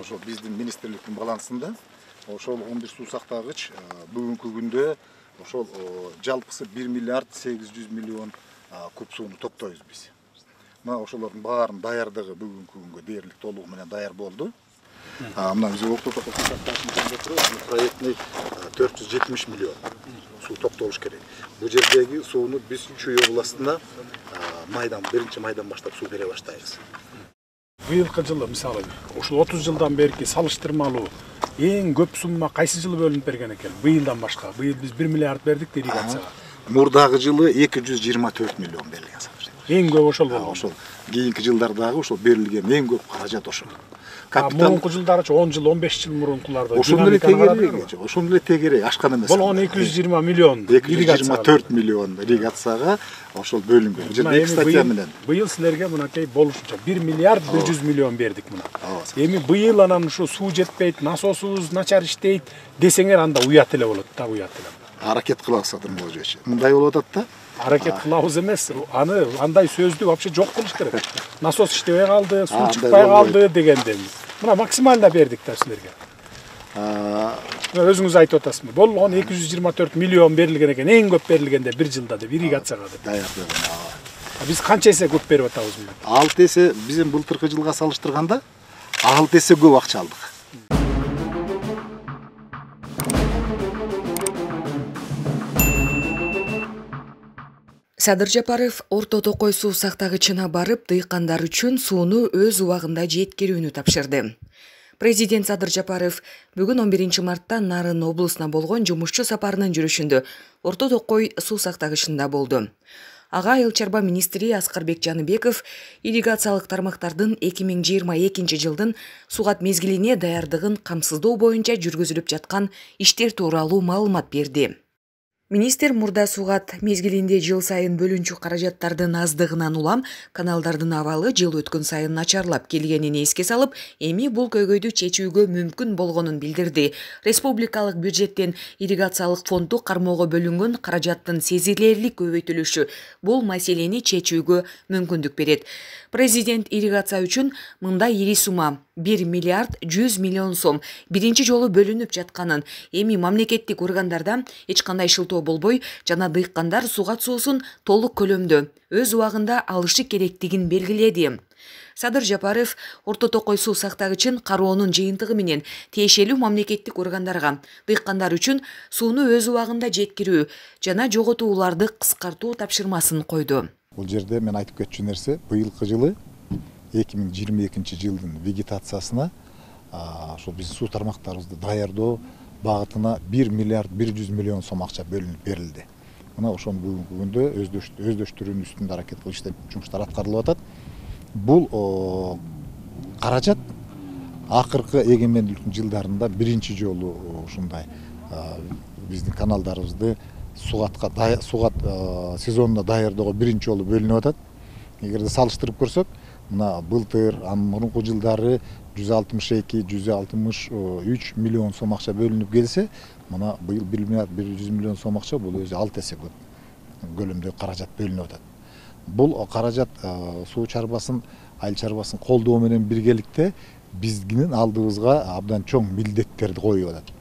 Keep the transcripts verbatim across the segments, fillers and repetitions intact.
ошол биздин министрликтин балансында ошол он бир суу сактагыч бүгүнкү күндө ошол жалпысы бир миллиард сегиз жүз миллион куб сууну топтойбуз биз. Мына ошолордун баарынын даярдыгы бүгүнкү күнгө дээрлик толугу менен даяр болду. Мына биз Орто Токой суу сактагычын турат, проектный төрт жүз жетимиш миллион суу топтолуш керек. Бул жердеги сууну биз Чүй областына майдан, биринчи майдан баштап суу бере баштайбыз. Быйылкы жылы мисалы ушул отуз жылдан берки салыштырмалуу эң көп сумма кайсы жылы бөлүнүп берген экен? Быйылдан башка. Быйыл биз бир миллиард бердик ирригацияга. Мурдагы жылы эки жүз жыйырма төрт миллион берилген. Эң көп ошол болгон. Ошол кийинки жылдардагы ошол берилген эң көп каражат ошол. Мурунку жылдарчы он жыл, он беш жыл мурункуларда ошондой эле тегерек, ошондой эле тегерек ашкан эмес. Бул он эки жүз жыйырма миллион эки жүз жыйырма төрт миллион ирригацияга ошол бөлүнгөн. Бул жерде эки статья менен. Быйыл силерге мынакей болушунча бир миллиард бир жүз миллион бердик мына. Эми быйыл анан ушу суу жетпейт, насосубуз начар иштейт десеңер анда уят эле болот да, уят эле. Аракет кылабыз Садырмолжович. Мындай болуп атат да. Аракет кылабыз эмес, аны андай сөздү вообще жок кылыш керек. Насос иштебей калды, суу чыкпай калды дегенде. Мына максимально бердик да силерге. Өзүңүз айтып атасызбы? Болгон эки жүз жыйырма төрт миллион берилген экен, эң көп берилгенде бир жылда деп ирригацияга деп. Даярдыгына. Биз канча эсе көп берип атабыз бул? алты эсе биздин былтыркы жылга салыштырганда алты эсе көп акча алдык. Садыр Жапаров Орто Токой суу сактагычына барып, дыйкандар үчүн сууну өз убагында жеткирүүнү тапшырды. Президент Садыр Жапаров бүгүн он биринчи мартта Нарын облусуна болгон жумушчу сапарынын жүрүшүндө Орто Токой суу сактагычында болду. Ага айыл чарба министри Аскарбек Жаныбеков ирригациялык тармактардын эки миң жыйырма экинчи жылдын сугат мезгилине даярдыгын камсыздоо боюнча жүргүзүлүп жаткан иштер тууралуу маалымат берди. Министр мурда сугат мезгилинде жыл сайын бөлүнчү каражаттардын аздыгынан улам каналдардын абалы жыл өткөн сайын начарлап келгенин эске салып, эми бул көйгөйдү чечүүгө мүмкүн болгонун билдирди. Республикалык бюджеттен ирригациялык фондду кармоого бөлүнгөн каражаттын сезилерлик көбөйтүлүшү бул маселени чечүүгө мүмкүндүк берет. Президент ирригация үчүн мындай ири сумма бир миллиард жүз миллион сом биринчи жолу бөлүнүп жатканын, эми мамлекеттик органдарда эч кандай шылтоо болбой жана дыйкандар сугат суусун толук көлөмдө өз убагында алышы керектигин белгиледи. Садыр Жапаров Орто Токой суу сактагычын кароонун жыйынтыгы менен тиешелүү мамлекеттик органдарга дыйкандар үчүн сууну өз убагында жеткирүү жана жоготууларды кыскартуу тапшырмасын койду. Бул жерде мен айтып кетчү нерсе, быйылкы жылы эки миң жыйырма экинчи жылдын вегетациясына ошол биздин суу тармактарыбызды даярдоо багытына бир миллиард бир жүз миллион сом акча бөлүнүп берилди. Мына ошону бүгүнкү күндө өздөштүрүүнүн үстүндө аракет кылып иштеп жумуштар аткарылып атат. Бул каражат акыркы эгемендүүлүктүн жылдарында биринчи жолу ушундай биздин каналдарыбызды сугатка сугат сезонуна даярдоого биринчи жолу бөлүнүп атат. Эгерде салыштырып көрсөк, мына былтыр, мурунку жылдары жүз алтымыш эки жүз алтымыш үч миллион сом акча бөлүнүп келсе, мына быйыл бир миллиард бир жүз миллион сом акча бул өзү алты эсе көп көлөмдө каражат бөлүнүп атат. Бул каражат суу чарбасын, айыл чарбасын колдоо менен биргеликте биздин алдыбызга абдан чоң милдеттерди коюп атат.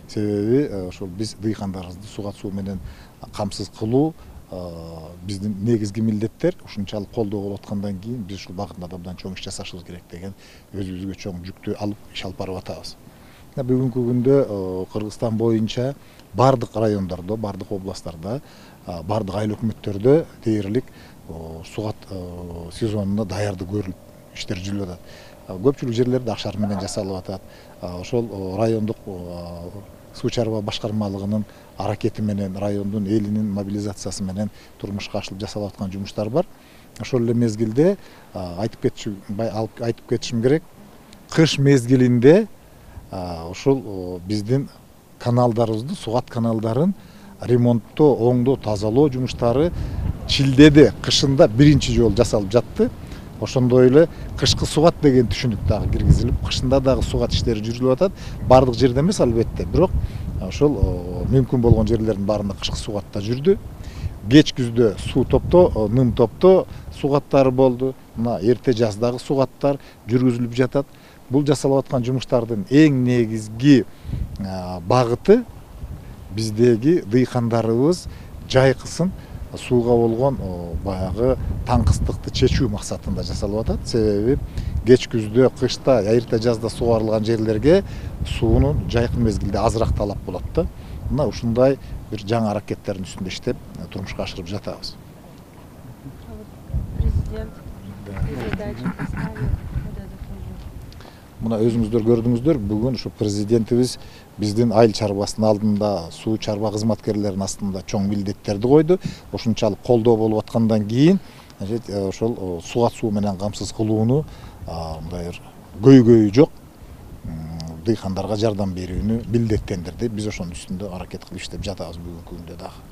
Себеби ошол биз дыйкандарыбызды сугат суу менен камсыз кылуу биздин негизги милдеттер. Ушунчалык колдоо болуп аткандан кийин биз ушул багытта абдан чоң иш жасашыбыз керек деген өзүбүзгө чоң жүктү алып иш алып барып атабыз. Бүгүнкү күндө Кыргызстан боюнча бардык райондордо, бардык областтарда, бардык айыл өкмөттөрдө дээрлик сугат сезонуна даярдык көрүлүп иштер жүрүп атат. Көпчүлүк жерлерде акшар менен жасалып атат. Ошол райондук суу чарба башкармалыгынын аракети менен, райондун элинин мобилизациясы менен турмушка ашырылып жасалып аткан жумуштар бар. Ошол эле мезгилде айтып кетчү, айтып кетишим керек, кыш мезгилинде ошол биздин каналдарыбызды, сугат каналдарын ремонттоо, оңдоо, тазалоо жумуштары шилдеде, кышында биринчи жолу жасалып жатты. Ошондой эле кышкы сугат деген түшүнүк дагы киргизилип, кышында дагы сугат иштери жүрүлүп атат. Бардык жерде эмес албетте, бирок ошол мүмкүн болгон жерлердин баарында кышкы сугатта жүрдү. Кеч күздө суу топтоо, ным топтоо сугаттары болду. Мына эрте жаздагы сугаттар жүргүзүлүп жатат. бул жасалып аткан жумуштардын эң негизги багыты биздеги дыйкандарыбыз жайкысын сууга болгон баягы таңкыстыкты чечүү максатында жасалып атат. Себеби кеч күздө, кышта, айрта жазда сугарылган жерлерге суунун жайкын мезгилде азыраак талап болот да. Мына ушундай бир жаңы аракеттердин үстүндө иштеп турмушка ашырып жатабыз. Президент передачу поставил. Мына өзүңүздөр көрдүңүздөр, бүгүн ушу президентибиз биздин айыл чарбасынын алдында суу чарба кызматкерлеринин астында чоң милдеттерди койду. Ошунчалык колдоо болуп аткандан кийин ошол сугат суу менен камсыз кылууну мындай бир көйгөйү жок дыйкандарга жардам берүүнү милдеттендирди. Биз ошонун үстүндө аракет кылып иштеп жатабыз бүгүнкү күндө дагы.